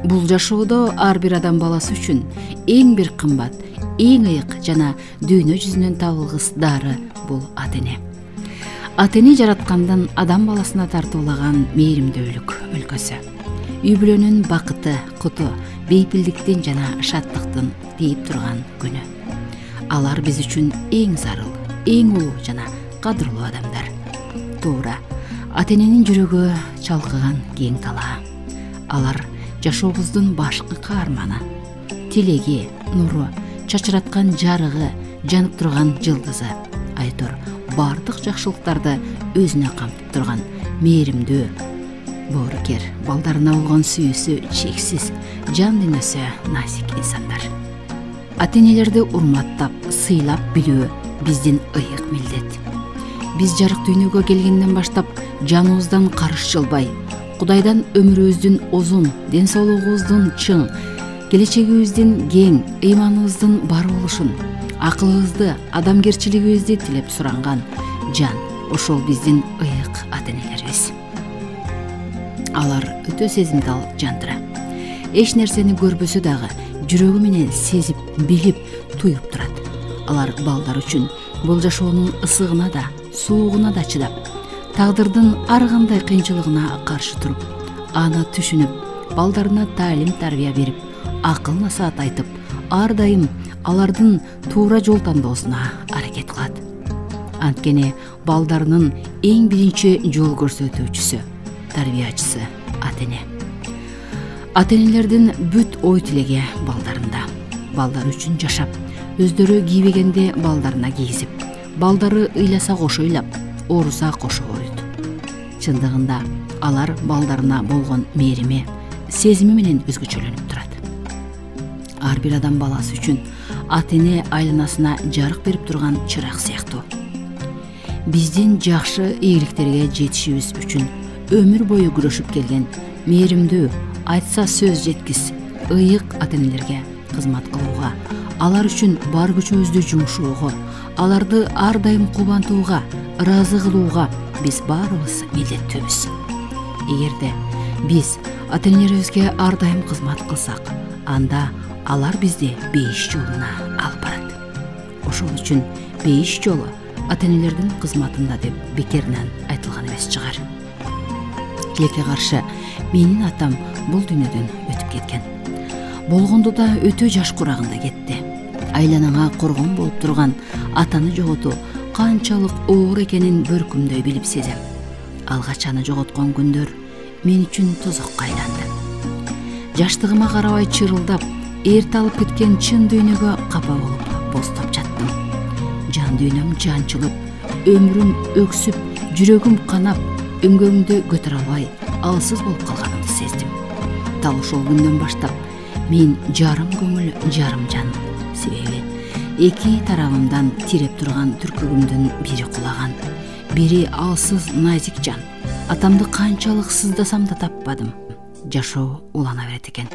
Бул жашоодо ар бир адам баласы үчүн эң бир кымбат, эң ыйык жана дүйнө жүзүнөн табылгыс дары бул ата эне. Ата эне жараткандан адам баласына тартуулаган мээримдүүлүк өлкөсү. Үй бүлөнүн бакыты, куту, бейпилдиктин жана шаттыктын тийип турган күнү. Алар биз үчүн эң зарыл, эң улуу жана кадырлуу адамдар. Туура, ата эненин жүрөгү чалкыган кең талаа. Алар жашообуздун башкы каарманы, тилеги, нуру, чачыраткан жарыгы, жанып турган жылдызы, айтор бардык жакшылыктарды өзүнө камтып турган мээримдүү, боорукер, балдарына болгон сүйүүсү чексиз, жан дүйнөсү насик инсандар. Ата энелерди урматтап, сыйлап билүү биздин ыйык милдет. Биз жарык дүйнөгө келгенден баштап жаныбыздан карыш жылбай, Кудайдан өмүрүбүздүн узун, ден соолугубуздун чың, келечегибиздин кең, ыйманыбыздын бар болушун, акылыбызды, адамгерчилигибизди тилеп суранган жан, ошол биздин ыйык ата энелерибиз. Алар өтө сезимтал жандыр. Эч нерсени көрбөсө дагы жүрөгү менен сезип, билип, туюп турат. Алар балдар үчүн бул жашоонун ысыгына да, суугуна да чыдап, тагдырдын ар кандай кыйынчылыгына каршы туруп, аны түшүнүп, балдарына таалим тарбия берип, акыл насаат айтып, ар дайым алардын туура жол тандоосуна аракет кылат. Анткени балдарынын эң биринчи жол көрсөтүүчүсү, тарбиячысы ата эне. Ата энелердин бүт ой тилеги балдарында. Балдар үчүн жашап, өздөрү кийбегенде балдарына кийгизип, балдары ыйласа кошо ыйлап, ооруса кошо оорuyт. Чындыгында алар балдарына болгон мээрими, сезими менен өзгөчөлөнүп турат. Ар бир адам баласы үчүн ата эне айланасына жарык берип турган чырак сыяктуу. Биздин жакшы ийгиликтерге жетишибиз үчүн өмүр бою күрөшүп келген мээримдүү, айтса сөз жеткис, ыйык ата энелерге кызмат кылууга, алар үчүн бар күчүбүздү жумшоого, аларды ар дайым кубантууга, ыраазы кылууга биз баарыбыз милдеттүүбүз. Эгерде биз ата энелерибизге ар дайым кызмат кылсак, анда алар бизди бейиш жолуна алып барат. Ошол үчүн бейиш жолу ата энелердин кызматында деп бекеринен айтылган эмес чыгар. Тилекке каршы менин атам бул дүйнөдөн өтүп кеткен. Болгондо да өтө жаш курагында кетти. Айланаңа коргон болуп турган атаны жоготуу канчалык оор экенин бөркүмдөй билип сезем. Алгач аны жоготкон күндөр мен үчүн тозокко айланды. Жаштыгыма карабай чырылдап, эрте алып кеткен чын дүйнөгө капа болуп, бостоп жаттым. Жан дүйнөм жанчылып, өмүрүм өксүп, жүрөгүм канап, өңгөңдү көтөрө албай, алсыз болуп калганымды сездим. Дал ошол күндөн баштап мен жарым көңүл, жарым жан. Себеби эки тарабымдан тиреп турган түркүгүмдүн бири кулаган, бири алсыз назик жан. Атамды канчалык сыздасам да таппадым. Жашоо улана берет экен.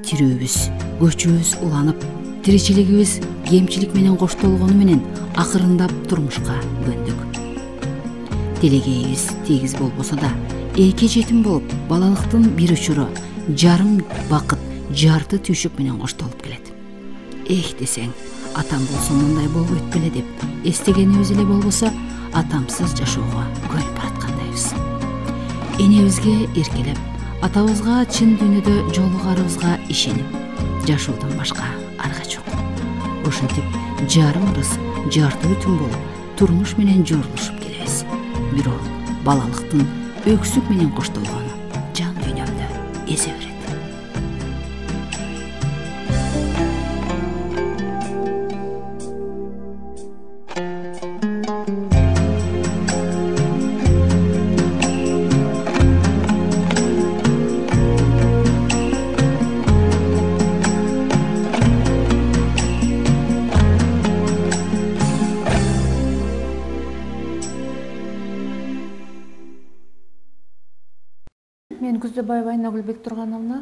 Тирүүбүз, көчүбүз уланып, тиричилигибиз кемчилик менен коштолгону менен акырындап турмушка көндүк. Тилегейибиз тегиз болбосо да, эки жетим болуп, балалыктын бир учуру, жарым бакыт, жарты түйшүк менен коштолуп келет. Эх десең, атам болсо мындай болбойт беле деп эстегенибиз эле болбосо, атамсыз жашоого көнүп бараткандайбыз. Энебизге эркелеп, атабызга чын дүйнөдө жолугарыбызга ишенип, жашоодон башка арга жок. Ошентип жарым ырыс, жарты бүтүн болуп, турмуш менен жорулушуп келебиз. Бирок балалыктын өксүк менен коштолгону жан дүйнөмдү эзе берет. Мен Күздөбаева Айнагүл Тургановна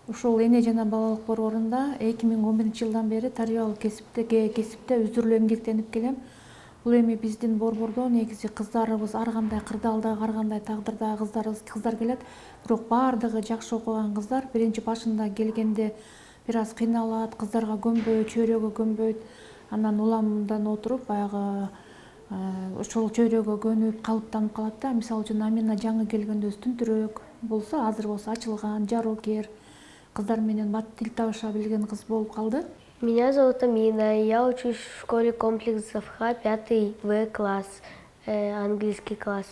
ушул эне жана балалык борборунда 2011 жылдан бери тарбиялык кесипте өзүрүлүү эмгектенип келем. Бул эми биздин борбордо негизи кыздарыбыз ар кандай кырдаалдагы, ар кандай тагдырдагы кыздар келет. Бирок баардыгы жакшы окуган кыздар. Биринчи башында келгенде бир аз кыйналат, кыздарга көнбөйт, чөйрөгө көнбөйт. Анан уламдан отуруп баягы ошол чөйрөгө көнүп калыптанып калат да. Мисалы үчүн Амина жаңы келгенде өзү түнтүрөөк болсо, азыр болсо ачылган, жароокер, кыздар менен бат тил табыша билген кыз болуп калды. Меня зовут Амина, я учусь в школе комплексов Х, 5 В класс, английский класс.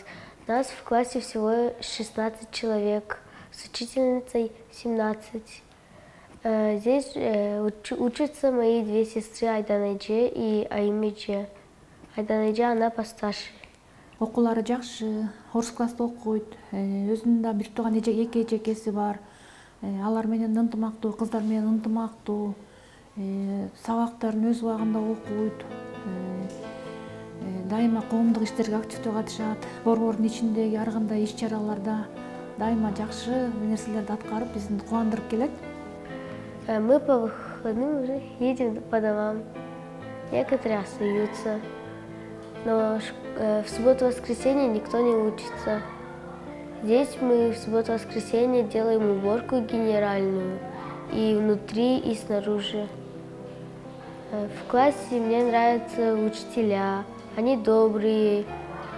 Нас в классе всего 16 человек, с учительницей 17. Здесь учатся мои две сестры Айданайже и Аймидже. Айданайже, она постарше. Окуулары жакшы, орус класста окуйт. Өзүнүн да бир тууган эки эжекеси бар. Алар менен ынтымактуу, кыздар менен ынтымактуу. Сабактарын өз убагында окуйт. Дайыма коомдук иштерге активдүү катышат. Борбордун ичиндеги ар кандай иш-чараларда дайыма жакшы нерселерди аткарып, бизди кубандырып келет. Мы по выходным уже едем по домам. Некоторые остаются. Но в субботу-воскресенье никто не учится. Здесь мы в субботу-воскресенье делаем уборку генеральную. И внутри, и снаружи. В классе мне нравятся учителя. Они добрые,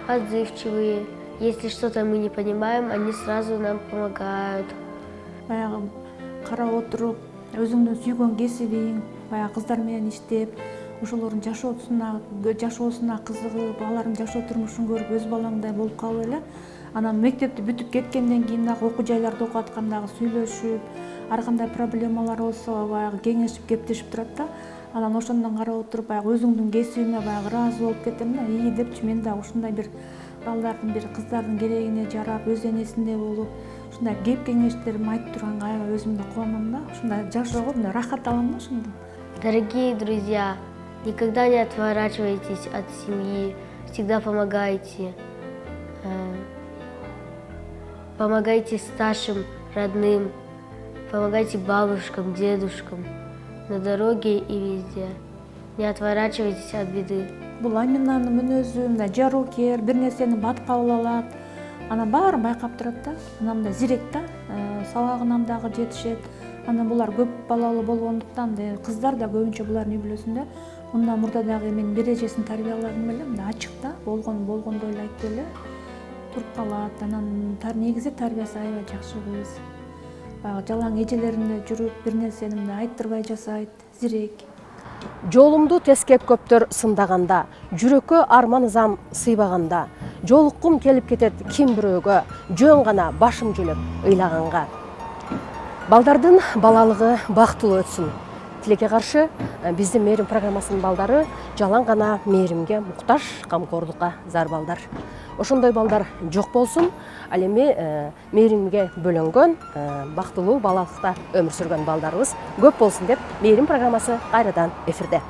отзывчивые. Если что-то мы не понимаем, они сразу нам помогают. Баягы карап отуруп, өзүңдүн сүйгөн кесибиң, баягы кыздар менен иштеп, ошолордун жашоосуна кызыгып, алардын жашоо турмушун көрүп, өз балаңдай болуп калып эле. Анан мектепти бүтүп кеткенден кийин дагы окуу жайларда окуп аткандагы сүйлөшүп, ар кандай проблемалар болсо баягы кеңешип, кептешип турат да. Анан ошондон карап отуруп, баягы өзүңдүн кесибиңе баягы ыраазы болуп кетем да. Депчи мен да ушундай бир балдардын, бир кыздардын керегине жарап, өз энесиндей болуп, ушундай кеп кеңештеримди айтып турганга аябай өзүмдү кубанам да. Ушундай жашоого мындай рахат алам да ошондон. Дорогие друзья, никогда не отворачивайтесь от семьи, всегда помогайте. Помогайте старшим, родным, помогайте бабушкам, дедушкам, на дороге и везде. Не отворачивайтесь от беды. Бул Аминанын мүнөзү мындай жароокер, бир нерсени бат кабыл алат. Анан баарын байкап турат да. Анан мындай зирек да, сабагынан дагы жетишет. Анан булар көп балалуу болгондуктан кыздар да көбүнчө булардын үй бүлөсүндө мындан мурда дагы мен бир эжесин тарбияладым эле, мындай ачык да, болгондой эле айтып эле туруп калат. Анан негизи тарбиясы аябай жакшы кыз. Баягы жалаң эжелерине жүрүп, бир нерсени мындай айттырбай жасайт, зирек. Жолумду тескеп көптөр сындаганда, жүрөккө арман ызам сыйбаганда, жолуккум келип кетет ким бирөөгө, жөн гана башым жүлөп ыйлаганга. Балдардын балалыгы бактылуу өтсүн. Тилекке каршы биздин мээрим программасынын балдары жалаң гана мээримге муктаж, камкордукка зар балдар. Ошондой балдар жок болсун, ал эми мээримге бөлөнгөн, бактылуу балалыкта өмүр сүргөн балдарыбыз көп болсун деп мээрим программасы кайрадан эфирде.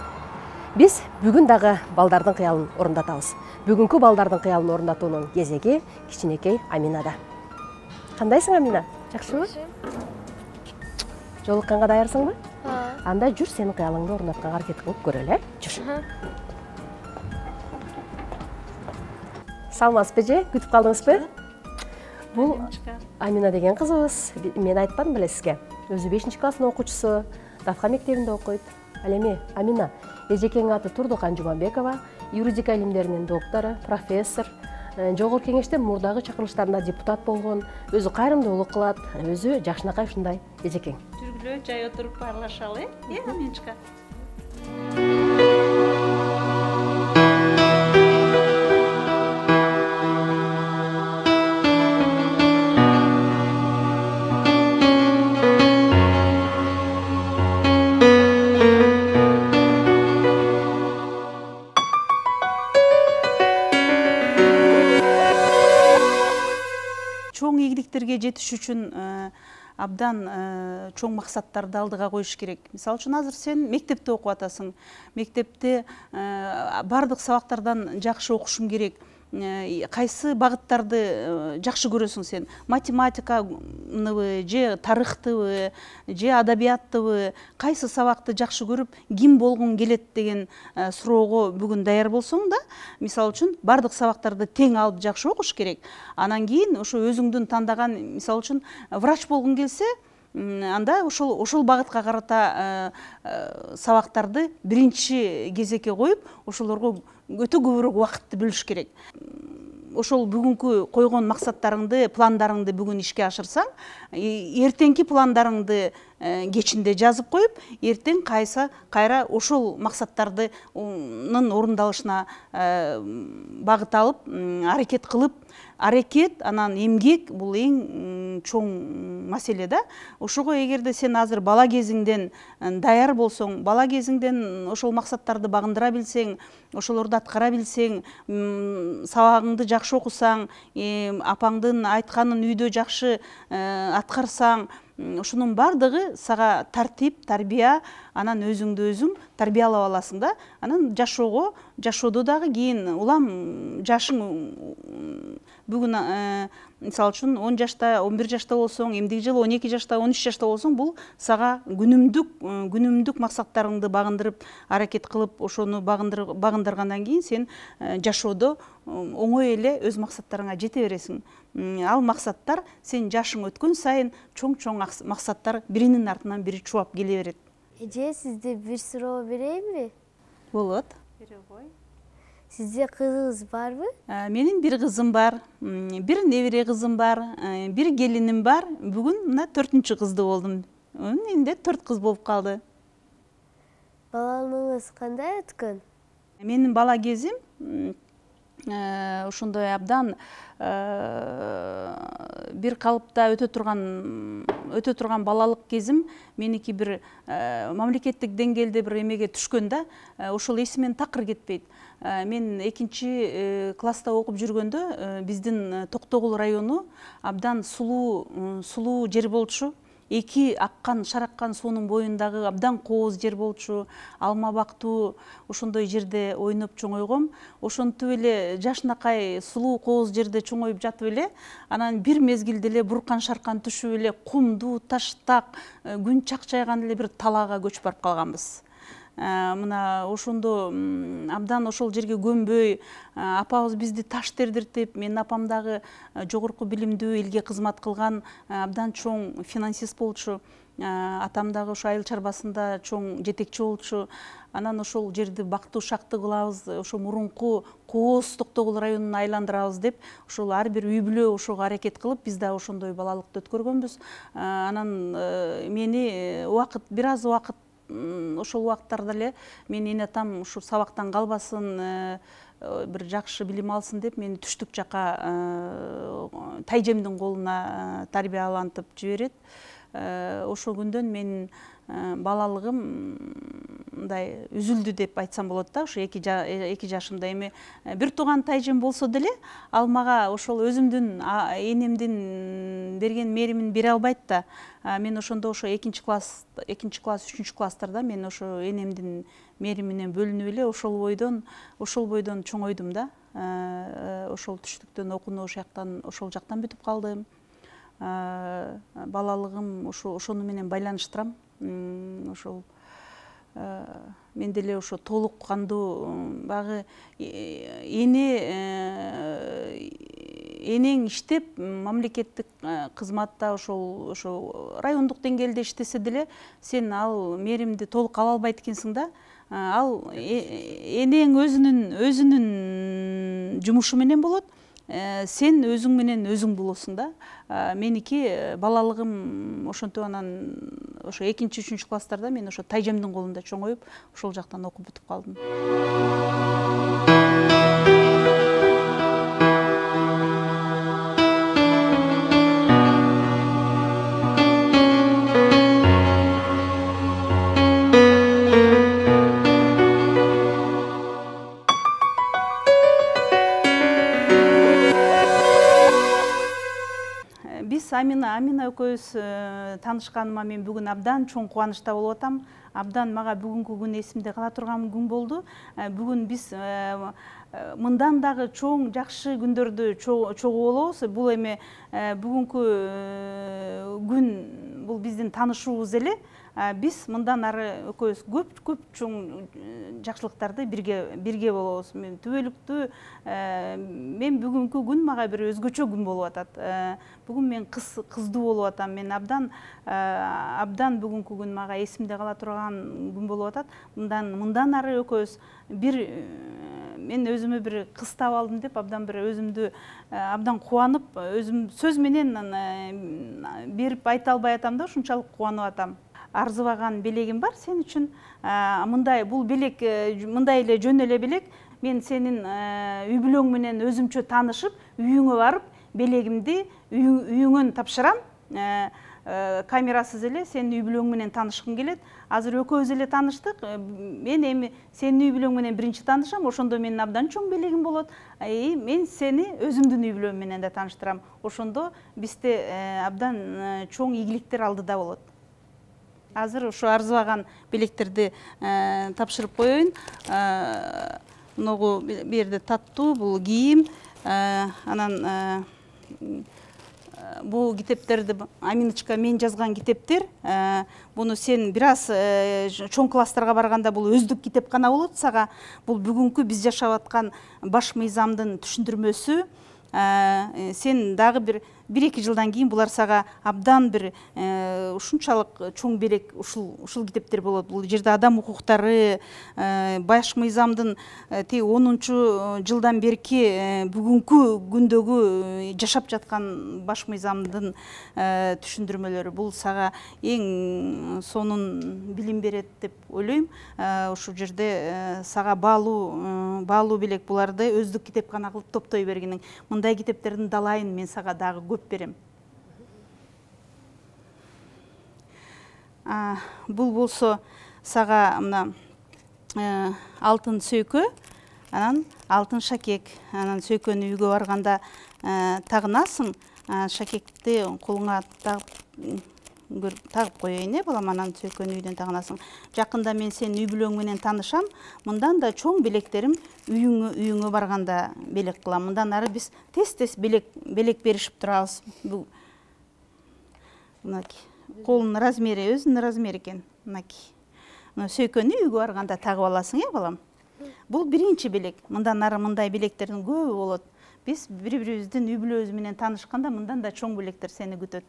Биз бүгүн дагы балдардын кыялын орундатабыз. Бүгүнкү балдардын кыялын орундатуунун кезеги кичинекей Аминада. Кандайсың, Амина? Жакшыбы? Жолукканга даярсыңбы? Анда жүр, сенин кыялыңды орундатканга аракет кылып көрөлү, жүр. Саламатсызбы же? Күтүп калдыңызбы? Бул Амина деген кызыбыз. Мен айтпадым беле сизге. Өзү 5-класстын окуучусу, Дафка мектебинде окуйт. Ал эми Амина, эжекеңин аты Турдукан Жумабекова, юридика илимдеринин доктору, профессор. Жогорку кеңеште мурдагы чакырылыштарында депутат болгон, өзү кайрымдуулук кылат, өзү жакшынакай ушундай эжекең. Жүргүлө, жай отуруп баарлашалы, Аминчика. Чоң ийгиликтерге жетиш үчүн абдан чоң максаттарды алдыга коюш керек. Мисалы үчүн азыр сен мектепте окуп атасың. Мектепте бардык сабактардан жакшы окушум керек. кайсы багыттарды жакшы көрөсүң сен? Математиканыбы же тарыхтыбы же адабияттыбы, кайсы сабакты жакшы көрүп ким болгуң келет деген суроого бүгүн даяр болсоң да, мисалы үчүн бардык сабактарды тең алып жакшы окуш керек. Анан кийин ошо өзүңдүн тандаган, мисалы үчүн врач болгуң келсе, анда ошол багытка карата сабактарды биринчи кезекке коюп, ошолорго өтө көбүрөөк убакытты бөлүш керек. Ошол бүгүнкү койгон максаттарыңды, пландарыңды бүгүн ишке ашырсаң, эртеңки пландарыңды кечинде жазып коюп, эртең кайра ошол максаттардын орундалышына багыт алып, аракет кылып, аракет анан эмгек бул эң чоң маселе да. Ошого эгерде сен азыр бала кезиңден даяр болсоң, бала кезиңден ошол максаттарды багындыра билсең, ошолорду аткара билсең, сабагыңды жакшы окусаң, апаңдын айтканын үйдө жакшы аткарсаң, ошонун бардыгы сага тартип, тарбия, анан өзүңдү өзүң тарбиялап аласың да. Анан жашоодо дагы кийин улам жашың бүгүн мисалы үчүн 10 жашта, 11 жашта болсоң, эмдиги жылы 12 жашта, 13 жашта болсоң, бул сага күнүмдүк максаттарыңды багындырып, аракет кылып, ошону багындыргандан кийин сен жашоодо оңой эле өз максаттарыңа жете бересиң. Ал максаттар сен жашың өткөн сайын чоң максаттар биринин артынан бири чубап келе берет. Эже, сизде бир суроо берейинби? Болот. Бере кой. Сизде кызыңыз барбы? Менин бир кызым бар, бир небере кызым бар, бир келиним бар. Бүгүн мына 4-чү кызды болдум. Менде 4 кыз болуп калды. Балалыгыңыз кандай өткөн? Менин бала кезим ошондой абдан бир калыпта өтө турган балалык кезим. Меники бир мамлекеттик деңгээлде бир эмеге түшкөн да, ошол эсимен такыр кетпейт. Мен 2-чи класста окуп жүргөндө биздин Токтогул району абдан сулуу жер болчу. Эки аккан, шараккан суунун боюндагы абдан кооз жер болчу, алма бактуу, ошондой жерде ойноп чоңойгом. Ошентип эле жашынакай сулуу кооз жерде чоңоюп жатып эле, анан бир мезгилде эле буркан шаркан түшүп эле кумдуу, таштак, күн чакчайган эле бир талаага көчүп барып калганбыз. Мына ошондо абдан ошол жерге көнбөй, апабыз бизди таш тердиртип, менин апам дагы жогорку билимдүү, элге кызмат кылган абдан чоң финансист болчу. Атам дагы ошо айыл чарбасында чоң жетекчи болчу. Анан ошол жерди бактуу шактуу кылабыз, ошо мурунку кооз Токтогул районун айландырабыз деп, ошол ар бир үй бүлө ошого аракет кылып, биз да ошондой балалыкты өткөргөнбүз. Анан мени бир аз убакыт ошол убакыттарда эле менин эне атам ушу сабактан калбасын, бир жакшы билим алсын деп мени түштүк жака тайжемдин колуна тарбиялантып жиберет. Ошол күндөн менин балалыгым мындай үзүлдү деп айтсам болот да. Ошо 2 жашымда эми бир тууган тайжем болсо деле, ал мага ошол өзүмдүн энемдин берген мээримин бере албайт да. Мен ошондо ошо 2 класс, 3 класстарда мен ошо энемдин мээри менен бөлүнүп эле ошол бойдон чоңойдум да. Ошол түштүктөн окууну ошол жактан бүтүп калдым. Балалыгым ошону менен байланыштырам. Ошол мен деле ошо толук кандуу багы энең иштеп мамлекеттик кызматта ошо райондук деңгээлде иштесе деле сен ал мээримди толук ала албайт экенсиң да. Ал энең өзүнүн жумушу менен болот. Сен өзүң менен өзүң болосуң да. Меники балалыгым ошентип анан ошо 2-3 класстарда мен ошо тайжемдин колунда чоңоюп, ошол жактан окуп бүтүп калдым. Амина экөөбүз таанышканыма мен бүгүн абдан чоң кубанычта болуп атам. Абдан мага бүгүнкү күн эсимде кала турган күн болду. Бүгүн биз мындан дагы чоң жакшы күндөрдү чогуу болобуз. Бул эми бүгүнкү күн бул биздин таанышуубуз эле. Биз мындан ары экөөбүз көп чоң жакшылыктарды бирге болобуз. Мен түбөлүктүү мен бүгүнкү күн мага бир өзгөчө күн болуп атат. Бүгүн мен кыздуу болуп атам. Мен абдан бүгүнкү күн мага эсимде кала турган күн болуп атат. Мындан ары экөөбүз мен өзүмө бир кыз таап алдым деп абдан бир өзүмдү абдан кубанып, өзүм сөз менен берип айта албай атам да, ушунчалык кубанып атам. Арзыбаган белегим бар сен үчүн. Бул белек мындай эле жөн эле белек. Мен сенин үй бүлөң менен өзүмчө таанышып, үйүңө барып, белегимди үйүңөн тапшырам. Камерасыз эле сенин үй бүлөң менен таанышкым келет. Азыр экөөбүз эле тааныштык. Мен эми сенин үй бүлөң менен биринчи таанышам. Ошондо менин абдан чоң белегим болот. Мен сени өзүмдүн үй бүлөм менен да тааныштырам. Ошондо бизде абдан чоң ийгиликтер алдыда болот. Азыр ушу арзыбаган белектерди тапшырып коеюн. Могу бу жерде таттуу, бул кийим. Анан бул китептерди Аминочка мен жазган китептер. Буну сен бир аз чоң класстарга барганда бул өздүк китепкана болот сага. Бул бүгүнкү биз жашап аткан баш мыйзамдын түшүндүрмөсү. Сен дагы бир 1-2 жылдан кийин булар сага абдан бир ушунчалык чоң белек ушул китептер болот. Бул жерде адам укуктары, баш мыйзамдын 10 жылдан берки бүгүнкү күндөгү жашап жаткан баш мыйзамдын түшүндүрмөлөрү. Бул сага эң сонун билим берет деп ойлойм. Ушул жерде сага баалуу белек, буларды өздүк китепкана кылып топтой бергениң. Мындай китептердин далайын мен сага дагы көп берем. Бул болсо сага мына алтын сөйкө, анан алтын шакек. Анан сөйкөнү үйгө барганда тагынасың. Шакекти колуңа тагып коеюн, балам, анан сөйкөнү үйдөн тагынасың. Жакында мен сенин үй бүлөң менен таанышам. Мындан да чоң белектерим үйүңө барганда белек кылам. Мындан ары биз тез белек беришип турабыз. Бул мынакей колунун размери өзүнүн размери экен. Мынакей. Сөйкөнү үйгө барганда тагып аласың, балам. Бул биринчи белек. Мындан ары мындай белектердин көбү болот. Биз бири-бирибиздин үй бүлөбүз менен таанышканда мындан да чоң белектер сени күтөт.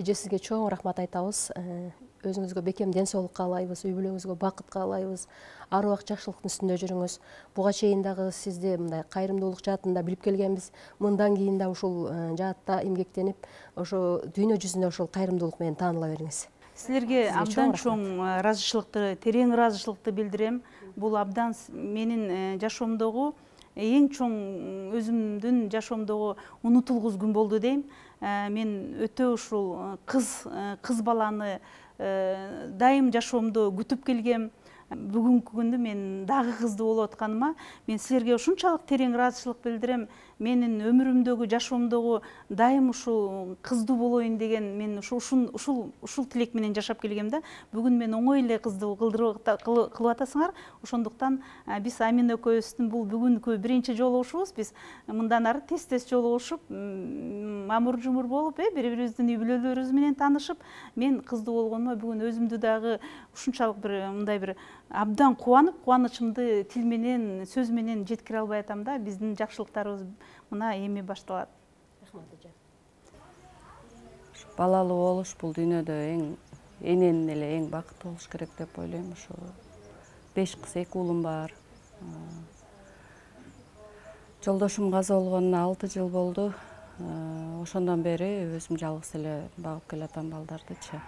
Эже, сизге чоң рахмат айтабыз. Өзүңүзгө бекем ден соолук каалайбыз, үй бүлөңүзгө бакыт каалайбыз. Ар убак жакшылыктын үстүндө жүрүңүз. Буга чейин дагы сизди мындай кайрымдуулук жаатында билип келгенбиз. Мындан кийин да ушул жаатта эмгектенип, ошо дүйнө жүзүндө ушул кайрымдуулук менен тааныла бериңиз. Силерге абдан чоң ыраазычылыкты, терең ыраазычылыкты билдирем. Бул абдан менин жашоомдогу эң чоң, өзүмдүн жашоомдогу унутулгус күн болду дейм. Мен өтө ушул кыз баланы дайым жашоомдо күтүп келгем. Бүгүнкү күндү мен дагы кыздуу болуп атканыма мен силерге ушунчалык терең ыраазычылык билдирем. Менин өмүрүмдөгү, жашоомдогу дайым ушул кыздуу болоюн деген мен ушул тилек менен жашап келгем да. Бүгүн мен оңой эле кыздуу кылып атасыңар. Ошондуктан биз Амина экөөбүздүн бул бүгүнкү биринчи жолугушубуз. Биз мындан ары тез жолугушуп, мамур-жумур болуп, бири-бирибиздин үй бүлөлөрүбүз менен таанышып, мен кыздуу болгонума бүгүн өзүмдү дагы ушунчалык мындай бир абдан кубанып, кубанычымды тил менен, сөз менен жеткире албай атам да. Биздин жакшылыктарыбыз мына эми башталат. Рахмат эже. Балалуу болуш бул дүйнөдө эненин эле эң бакыттуу болуш керек деп ойлойм. Ошо 5 кыз 2 уулум бар. Жолдошум каза болгонуна 6 жыл болду. Ошондон бери өзүм жалгыз эле багып келатам балдардычы.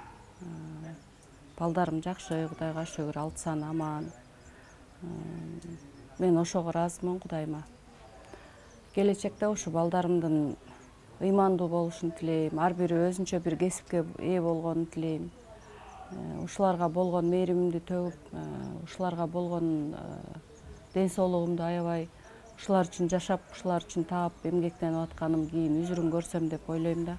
Балдарым жакшы, Кудайга шүгүр, 6 аман. Мен ошого ыраазымын Кудайыма. Келечекте ушу балдарымдын ыймандуу болушун тилейм, ар бири өзүнчө бир кесипке ээ болгонун тилейм. Ушуларга болгон мээримимди төгүп, ушуларга болгон ден соолугумду аябай, ушулар үчүн жашап, ушулар үчүн таап, эмгектенип атканым кийин үзүрүн көрсөм деп ойлойм да.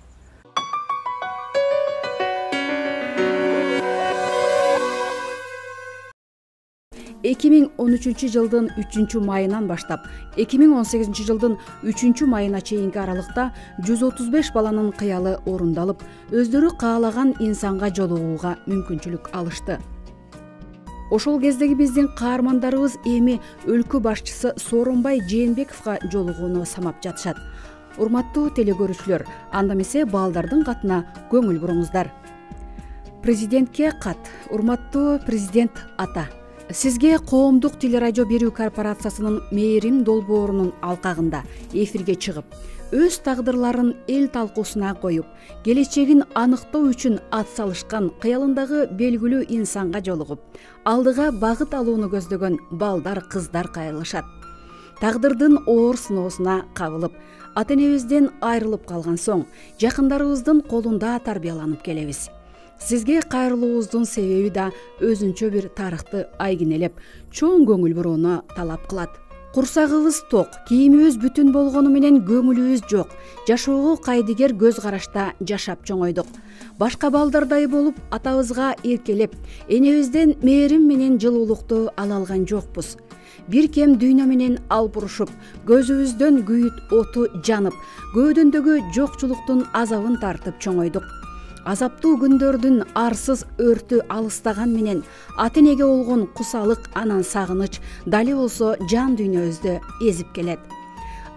2013 жылдын 3 майынан баштап 2018 жылдын 3 майына чейинки аралыкта 135 баланын кыялы орундалып, өздөрү каалаган инсанга жолугууга мүмкүнчүлүк алышты. Ошол кездеги биздин каармандарыбыз эми өлкө башчысы Сооронбай Жээнбековго жолугууну самап жатышат. Урматтуу телекөрүүчүлөр, анда эмесе балдардын катына көңүл буруңуздар. Президентке кат. Урматтуу президент ата, сизге Коомдук телерадио берүү корпорациясынын мээрим долбоорунун алкагында эфирге чыгып, өз тагдырларын эл талкуусуна коюп, келечегин аныктоо үчүн ат салышкан кыялындагы белгилүү инсанга жолугуп, алдыга багыт алууну көздөгөн балдар, кыздар кайрылышат. Тагдырдын оор сыноосуна кабылып, ата-энебизден айрылып калган соң, жакындарыбыздын колунда тарбияланып келебиз. Сизге кайрылуубуздун себеби да өзүнчө бир тарыхты айгинелеп, чоң көңүл бурууну талап кылат. Курсагыбыз ток, кийимибиз бүтүн болгону менен көңүлүбүз жок. Жашоого кайдыгер көз карашта жашап чоңойдук. Башка балдардай болуп, атабызга эркелеп, энебизден мээрим менен жылуулукту ала алган жокпуз. Бир кем дүйнө менен алпурушуп, көзүбүздөн күйүт оту жанып, көөдөндөгү жокчулуктун азабын тартып чоңойдук. Азаптуу күндөрдүн арсыз өртү алыстаган менен ата-энеге болгон кусалык, анан сагыныч дали болсо жан дүйнөбүздү эзип келет.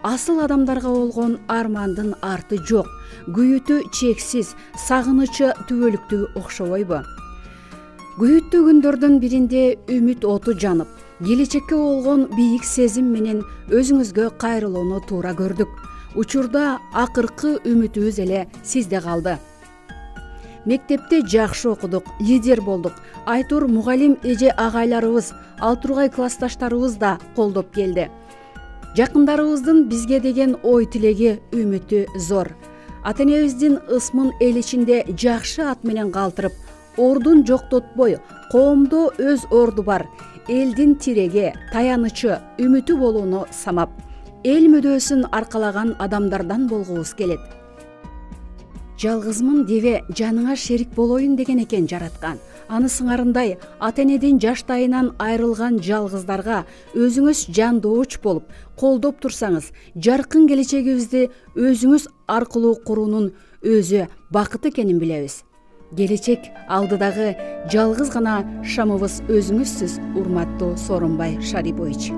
Асыл адамдарга болгон армандын арты жок, күйүтү чексиз, сагынычы түбөлүктүү окшобойбу? Күйүттүү күндөрдүн биринде үмүт оту жанып, келечекке болгон бийик сезим менен өзүңүзгө кайрылууну туура көрдүк. Учурда акыркы үмүтүбүз эле сизде калды. Мектепте жакшы окудук, лидер болдук. Айтур мугалим эже агайларыбыз, ал тургай классташтарыбыз да колдоп келди. Жакындарыбыздын бизге деген ой тилеги, үмүтү зор. Ата-энебиздин ысмын эл ичинде жакшы ат менен калтырып, ордун жоктотпой, коомдо өз орду бар, элдин тиреги, таянычы, үмүтү болууну самап, эл мүдөөсүн аркалаган адамдардан болгубуз келет. Жалгызмын дебе, жаныңа шерик болоюн деген экен жараткан. Аны сыңарындай ата-энедин жаштайынан айрылган жалгыздарга өзүңүз жандооч болуп, колдоп турсаңыз, жаркын келечегибизди өзүңүз аркылуу куруунун өзү бакыт экенин билебиз. Келечек алдыдагы жалгыз гана шамыбыз өзүңүзсүз, урматтуу Сооронбай Шарибович.